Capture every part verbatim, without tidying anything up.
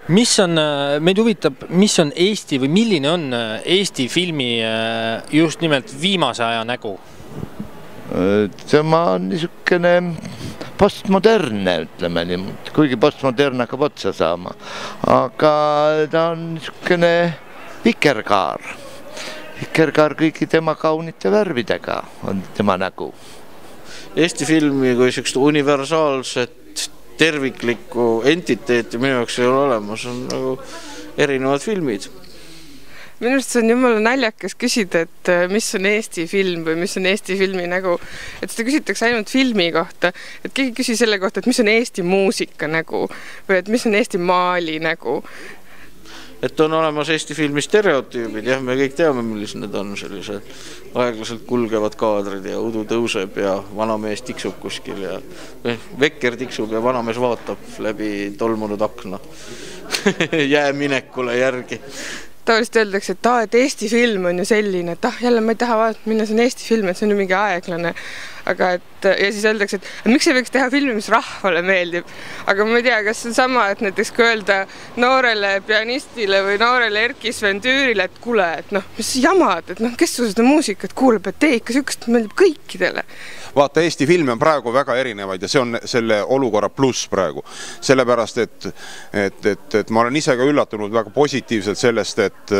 Mis on, meid huvitab, mis on Eesti või milline on Eesti filmi just nimelt viimase aja nägu? Tema on niisugune postmodernne, ütleme niimoodi, kuigi postmodern hakkab otsa saama. Aga ta on niisugune vikerkaar. Vikerkaar kõigi tema kaunite värvidega on tema nägu. Eesti filmi kui niisugust universaalset terviklikku entiteeti minu jaoks ei ole olemas, on nagu erinevad filmid. Minu arust see on jumala naljakas küsida, et mis on Eesti film või mis on Eesti filmi nägu. Et seda küsitakse ainult filmi kohta, et keegi küsi selle kohta, et mis on Eesti muusika nägu või et mis on Eesti maali nägu. Et on olemas Eesti filmi stereotüübid, jah, me kõik teame, millised need on sellised aeglaselt kulgevad kaadrid ja udu tõuseb ja vanamees tiksub kuskil ja vekker tiksub ja vanamees vaatab läbi tolmunud akna jääminekule järgi. Tavaliselt öeldakse, et, ta, et Eesti film on ju selline, et ah, jälle ma ei taha vaadata, minna see on Eesti film, et see on ju mingi aeglane. Aga et, ja siis öeldakse, et, et miks ei võiks teha filmi, mis rahvale meeldib. Aga ma ei tea, kas see on sama, et näiteks kui öelda noorele pianistile või noorele Erki Svendüürile, et kuule, et noh, mis jamad, et noh, kes su seda muusikat kuuleb, et tee ikka sükest meeldib kõikidele. Vaata, Eesti filmi on praegu väga erinevaid ja see on selle olukorra pluss praegu. Sellepärast, et, et, et, et ma olen ise ka üllatunud väga positiivselt sellest, et,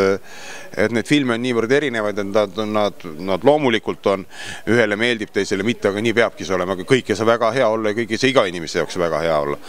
et need filme on niivõrd erinevaid, et nad, nad, nad loomulikult on, ühele meeldib teisele mitte, aga nii peabki see olema, aga kõik ei saa väga hea olla ja kõik ei saa iga inimese jaoks väga hea olla.